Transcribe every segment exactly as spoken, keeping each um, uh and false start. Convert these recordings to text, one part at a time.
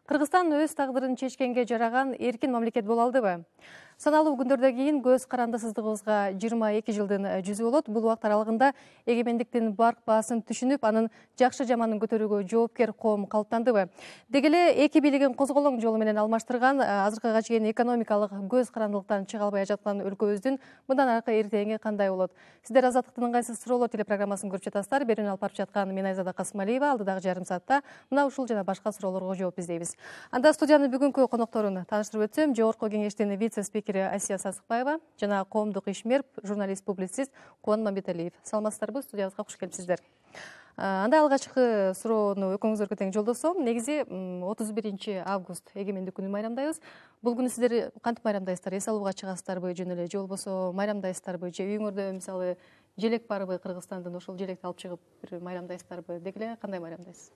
Кыргызстан өз тагдырын чечкенге жараган эркин мамлекет боло алдыбы? Саналуу күндөрдөн кийин көз карандысыздыгыбызга жыйырма эки жылдын жүзү болот. Бул убакыт аралыгында эгемендиктин барк баасын түшүнүп, анын жакшы жаманын көтөрүүгө жоопкер коом калыптандыбы? Деги эле эки бийлигин козголоң жолу менен алмаштырган, азыркыга чейин экономикалык көз карандылыктан чыга албай жаткан өлкөбүздүн мындан аркы эртеңи кандай болот? Сиздер Азаттыктын ыңгайсыз суроолор телепрограммасын көрүп жатасыздар. Берүүнү алып барып жаткан мен Айзада Касымалиева. Алдыдагы жарым саатта мына ушул жана башка суроолорго жооп издейбиз. Анда студиянын бүгүнкү конокторун тааныштырып өтсөм, Жогорку кеңештин вице-спикери Асия Сасыкбаева жана коомдук ишмер, журналист-публицист Кубан Мамбеталиев. Саламатсыздарбы? Студиябызга куш келипсиздер. Анда алгачкы суроону экөөңүзгө тең жолдосом. Негизи отуз биринчи август эгемендик күнүн майрамдайбыз. Бул күнү сиздер кантип майрамдайсыздар? Эс алууга чыгасыздарбы жөн эле, же болбосо майрамдайсыздарбы, же үйүңөрдө мисалы желек барбы Кыргызстандан, ошол желекти алып чыгып бир майрамдайсыздарбы? Деги эле кандай майрамдайсыз?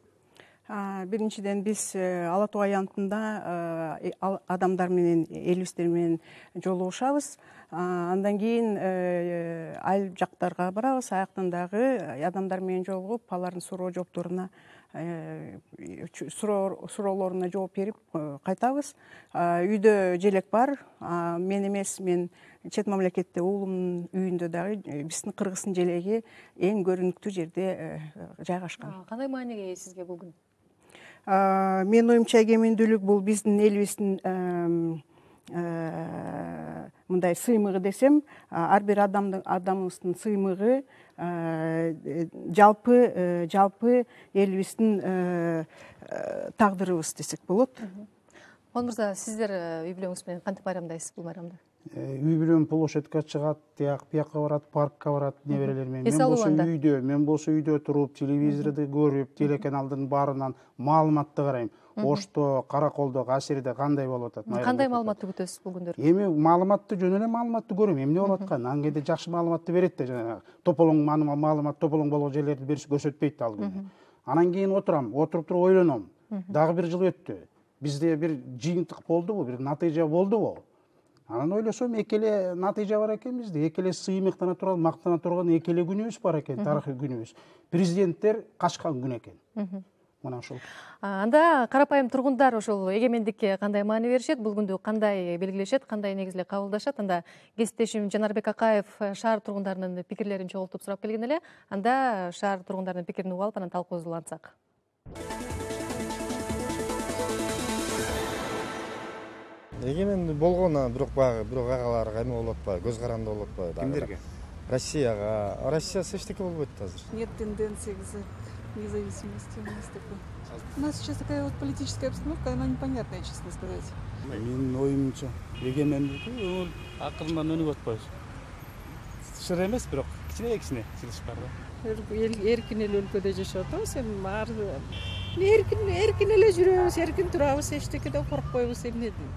Биринчиден биз Ала Тоо аянтында адамдар менен, элибиздер менен жолугушабыз. Андан кийин айыл жактарга барабыз, аяктан дагы адамдар менен жолугуп, алардын суроо жоопторуна суроолоруна жооп берип кайтабыз. Үйдө желек бар. Мен эмес, мен чет мамлекетте уулумдун үйүндө дагы биздин кыргыздын желеги эң көрүнүктүү жерде жайгашкан. Кандай мааниге ээ сизге бул күн? Менин оюмча эгемендүүлүк бул биздин элибиздин мындай сыймыгы десем, ар бир адамыбыздын сыймыгы, жалпы жалпы элибиздин тагдырыбыз десек болот. Кубан мырза, сиздер үй бүлөңүз менен кантип майрамдайсыз бул майрамды? Үй бүлөм площадька чыгат, тияк бияка барат, паркка барат, неберелер менен. Мен болсо үйдө, мен болсо үйдө туруп, телевизорду көрүп, телеканал алдын баарынан маалыматты карайм. Ошто, Караколдо, Касирде кандай болуп атат? Кандай маалыматты күтөсүз бул күндөрдө? Эми маалыматты жөн эле маалыматты көрөм. Эмне болуп аткан? Ан кээде жакшы маалыматты берет да, жана тополоң маалымат тополоң болгон жерлерди бериш көрсөтпөйт ал күнү. Анан кийин отурам, отуруп туруп ойлоном. Дагы бир жыл өттү. Бизде бир жыйынтык болдубу, бир натыйжа болдубу? Анан ойлосом, эки эле натыйжа бар экен бизде, эки эле сыймыктана турган, мактана турган эки эле күнүбүз бар экен, тарыхый күнүбүз. Президенттер качкан күн экен. Мына ушул. Анда карапайым тургундар ошол эгемендикке кандай маани беришет, бул күндү кандай белгилешет, кандай негизде кабылдашат? Анда кесиптешим Жанарбек Акаев шаар тургундарынын пикирлерин чогултуп сурап келген эле. Анда шаар тургундарынын пикирин угуп алып, анан талкуубузду улантсак. Эгемен болгону бирок баягы бирок агалар эме болуп атпайбы, көз каранды болуп атпайбы? Кимдерге? Россияга. Россиясы эчтеке болбойт азыр. Нет тенденции к независимости у нас такой. У нас сейчас такая вот политическая обстановка, она непонятная, честно сказать. Менин оюмча, эгемендүүлүк акырындан өнүп атпайбыз. Шыр эмес, бирок кичине-кичине чыгыш бар да. Эркин эле өлкөдө жашап атабыз, эми баары эркин эркин эле жүрөбүз, эркин турабыз, эчтекеден коркпойбуз, эмне дейм.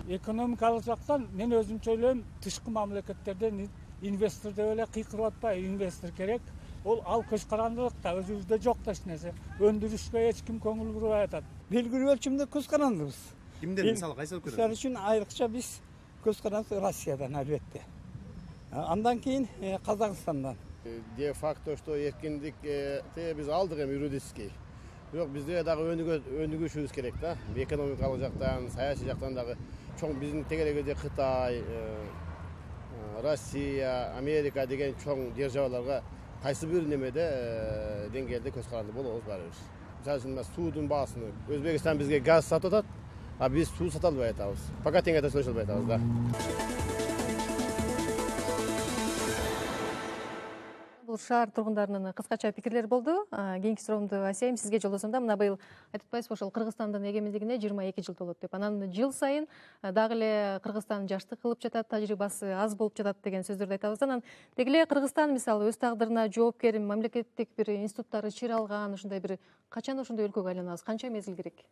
Экономикалык жактан мен өзүмчө ойлойм, тышкы мамлекеттерден инвестор деп эле кыйкырып атпайбы, инвестор керек. Ол ал көз карандылыкта өзүбүздө жок да эч нерсе. Өндүрүшкө эч ким көңүл бурбай атат. Белгилүү өлчөмдө көз карандыбыз. Кимдер мисалы кайсы өлкөдө? Мисалы үчүн айрыкча биз көз каранды Россиядан албетте. Андан кийин Казакстандан. Де факто, что эркиндик биз алдык эми юридический. Бирок бизде дагы өнүгүшүбүз керек да. Экономикалык жактан, саясий жактан дагы чоң биздин тегерегиде Кытай, Россия, Америка деген чоң державаларга кайсы бир немеде деңгээлде көз каранды болобуз баарыбыз. Мисалы үчүн суудун баасын Өзбекстан бизге газ сатып атат, а биз суу сата албай атабыз. Пока теңге төшөлө албай атабыз да. Бул шаар тургундарынын кыскача пикирлери болду. Кийинки суроомду Асияйм сизге жолдосом да, мына быйыл айтып атпайсызбы, ошол Кыргызстандын эгемендигине жыйырма эки жыл толот деп. Анан жыл сайын дагы эле Кыргызстан жаштык кылып жатат, тажрыйбасы аз болуп жатат деген сөздөрдү айтабыз. Анан деги эле Кыргызстан мисалы өз тагдырына жоопкер мамлекеттик бир институттары чир алган, ушундай бир качан ошондой өлкөгө айланабыз? Канча мезгил керек?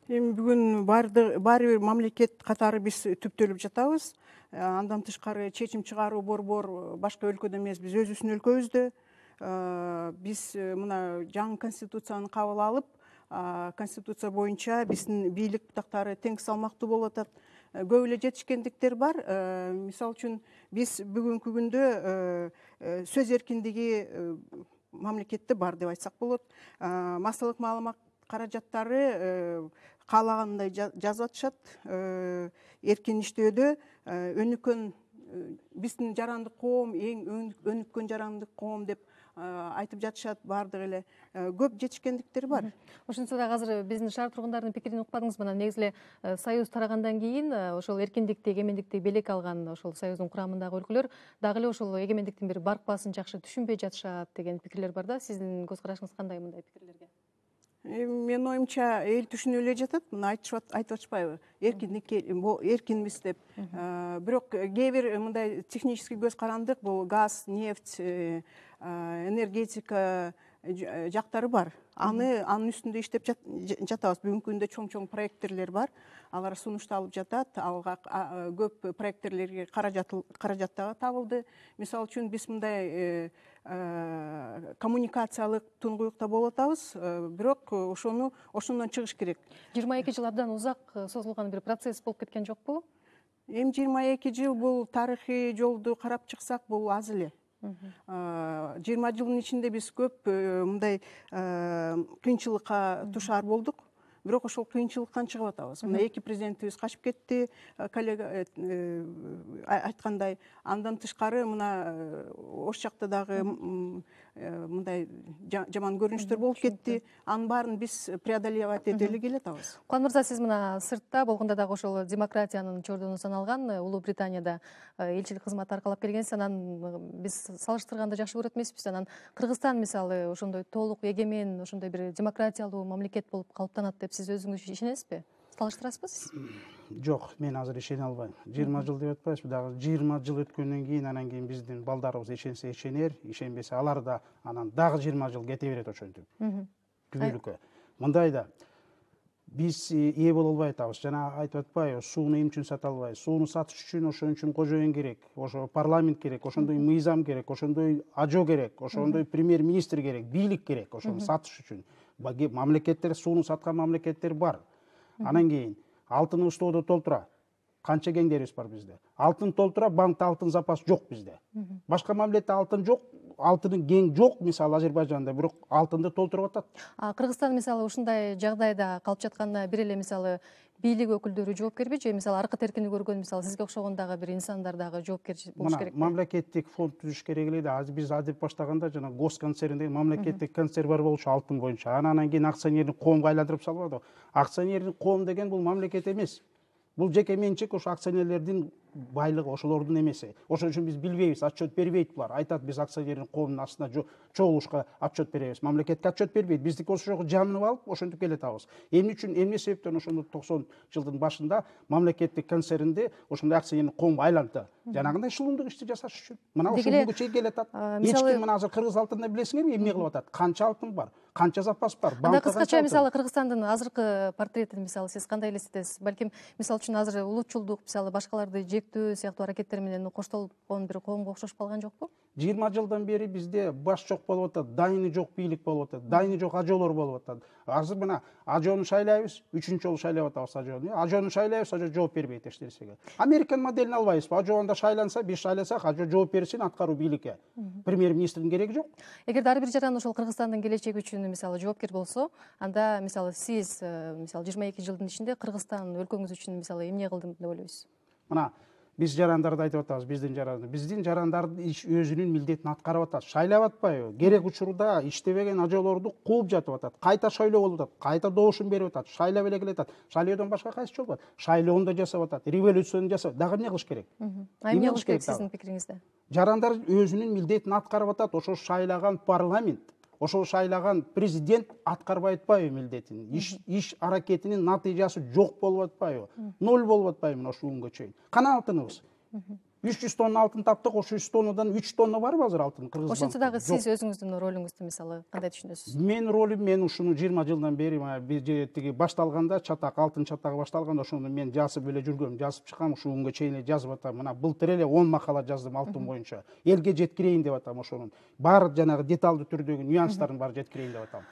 Эми бүгүн баары бир мамлекет катары биз түптөлүп жатабыз. Андан тышкары чечим чыгаруу борбор башка өлкөдө эмес, биз өзүбүздүн өлкөбүздө. Биз мына жаңы конституцияны кабыл алып, конституция боюнча биздин бийлик бутактары тең салмактуу болуп атат. Көп эле жетишкендиктер бар. Мисалы үчүн биз бүгүнкү күндө сөз эркиндиги мамлекетте бар деп айтсак болот. Массалык маалымат каражаттары каалагандай жазып атышат. Эркин иштөөдө өнүккөн биздин жарандык коом эң өнүккөн жарандык коом деп айтып жатышат. Баардык эле көп жетишкендиктер бар. Ошентсе дагы азыр биздин шаар тургундарынын пикирин укпадыңызбы? Анан негизи эле союз тарагандан кийин ошол эркиндикти, эгемендикти белек алган ошол союздун курамындагы өлкөлөр дагы эле ошол эгемендиктин бир баркпасын жакшы түшүнбөй жатышат деген пикирлер бар да. Сиздин көз карашыңыз кандай мындай пикирлерге? Менин оюмча эл түшүнүп эле жатат. Мына айтып атышпайбы? Эркиндик эркинбиз деп. Бирок кээ бир мындай технический көз карандык, бул газ, нефть, энергетика жактары бар. Аны анын үстүндө иштеп жатабыз. Бүгүнкү күндө чоң-чоң проекттерлер бар. Алар сунушталып жатат. Алга көп проекттерлерге каражат дагы табылды. Мисалы үчүн биз мындай коммуникациялык туңгуюкта болуп атабыз, бирок ошону ошондон чыгыш керек. жыйырма эки жыл абдан узак созулган бир процесс болуп кеткен жокпу? Эми жыйырма эки жыл бул тарыхый жолду карап чыксак, бул аз эле. жыйырма жылдын ичинде биз көп мындай кыйынчылыкка душар болдук. Бирок ошол кыйынчылыктан чыгып атабыз. Мына эки президентибиз качып кетти, коллега айткандай. Андан тышкары мына ош жакта дагы мындай жаман көрүнүштөр болуп кетти. Анын баарын биз преодолевать эте эле келатабыз. Кубан мырза, сиз мына сыртта болгондо дагы ошол демократиянын чордону саналган Улуу Британияда элчилик кызмат аркалап келгенсиз. Анан биз салыштырганда жакшы көрөт эмеспиз. Анан Кыргызстан мисалы ошондой толук эgemen, ошондой бир демократиялуу мамлекет болуп калыптанат деп сиз өзүңүз ишенесизби? Салыштырасызбы сиз? Жок, мен азыр ишене албайм. жыйырма жыл деп атпайбызбы? Дагы жыйырма жыл өткөндөн кийин анан кийин биздин балдарыбыз ишенсе ишенер, ишенбесе алар да анан дагы жыйырма жыл кете берет ошентип. Түбөлүккө. Мындай да биз ээ боло албай атабыз. Жана айтып атпайбы, сууну эмне үчүн сата албайбыз? Сууну сатыш үчүн ошон үчүн кожоюн керек, ошо парламент керек, ошондой мыйзам керек, ошондой ажо керек, ошондой премьер-министр керек, бийлик керек ошону сатыш үчүн. Мамлекеттер, сууну саткан мамлекеттер бар. Анан кийин алтын устоодо толтура. Канча кеңдерибиз бар бизде? Алтын толтура, банкта алтын запас жок бизде. Башка мамлекетте алтын жок, алтынын кең жок, мисалы Азербайжанда, бирок алтынды толтуруп атат. А Кыргызстан мисалы ушундай жагдайда калып жатканда бир эле мисалы бийлик өкүлдөрү жоопкерби же мисалы аркы теркини көргөн мисалы сизге окшогон дагы бир инсандар дагы жоопкер болуш керек? Мамлекеттик фонд түзүш керек эле да. Азыр биз адеп баштаганда жана госконцерн деген мамлекеттик концерн бар болчу алтын боюнча. Анан кийин акционердик коомго айландырып салбады. Акционердик коом деген бул мамлекет эмес. Бул жеке менчик, ошо акционерлердин байлыгы, ошолордун эмеси. Ошон үчүн биз билбейбиз, отчет бербейт булар. Айтат, биз акционердик коомдун астына чогулушка отчет беребиз. Мамлекетке отчет бербейт. Биздики ошого жамынып алып, ошентип келатабыз. Эмне үчүн, эмне себептен ошондо токсон жылдын башында мамлекеттик концернди ошондой акционердик коомго айлантты? Жанагындай шылымдык ишти жасаш үчүн. Мына ошол күнгө чейин келатат. Эч ким мына азыр Кыргыз алтынында билесиңерби эмне кылып атат? Канча алтын бар? Канча запас бар? Анда кыскача мисалы Кыргызстандын азыркы портретин мисалы сиз кандай элестетесиз? Балким мисалы үчүн азыр улутчулдук, мисалы башкаларды жектөө сыяктуу аракеттер менен коштолгон бир коомго окшошуп калган жокпу? жыйырма жылдан бери бизде баш жок болуп атат, дайыны жок бийлик болуп атат, дайыны жок ажоолор болуп атат. Азыр мына ажоону шайлайбыз, үчүнчү жолу шайлап атабыз ажоону. Ажоону шайлайбыз, ажоо жооп бербейт эч нерсеге. Американ моделин албайбызбы? Ажоонда шайланса, биз шайласак, ажоо жооп берсин аткаруу бийликке. Премьер-министрдин кереги жок. Эгерде ар бир жаран ошол Кыргызстандын келечеги үчүн мисалы жоопкер болсо, анда мисалы сиз мисалы жыйырма эки жылдын ичинде Кыргызстан өлкөңүз үчүн мисалы эмне кылдым деп ойлойсуз? Мына биз жарандарды айтып атабыз, биздин жарандар. Биздин жарандардын иш өзүнүн милдетин аткарып атат. Шайлап атпайбы? Керек учурда иштебеген ажоолорду кууп жатып атат. Кайта шайлоо болуп атат. Кайта добушун берип атат. Шайлап эле келатат. Шайлоодон башка кайсы жол бар? Шайлоону да жасап атат. Революцияны жасап. Дагы эмне кылыш керек? Эмне кылыш керек сиздин пикириңизде? Жарандар өзүнүн милдетин аткарып атат. Ошо шайлаган парламент, ошол шайлаган президент аткарбай атпайбы милдетин? Иш иш аракетинин натыйжасы жок болуп атпайбы? Ноль болуп атпайбы мына ушул күнгө чейин? Кана алтыныбыз? үч жүз тонна алтын таптык, ошо үч тоннадан үч тонна барбы азыр алтын Кыргызстанда? Ошентсе дагы сиз өзүңүздүн ролуңузду мисалы кандай түшүнөсүз? Менин ролум, мен ушуну жыйырма жылдан бери биз тиги башталганда, чатак алтын чатагы башталганда ошону мен жазып эле жүргөм, жазып чыккам, ушул күнгө чейин эле жазып атам. Мына былтыр эле он макала жаздым алтын боюнча. Элге жеткирейин деп атам ошонун. Баары жанагы деталдуу түрдөгү нюанстарын баары жеткирейин деп атам.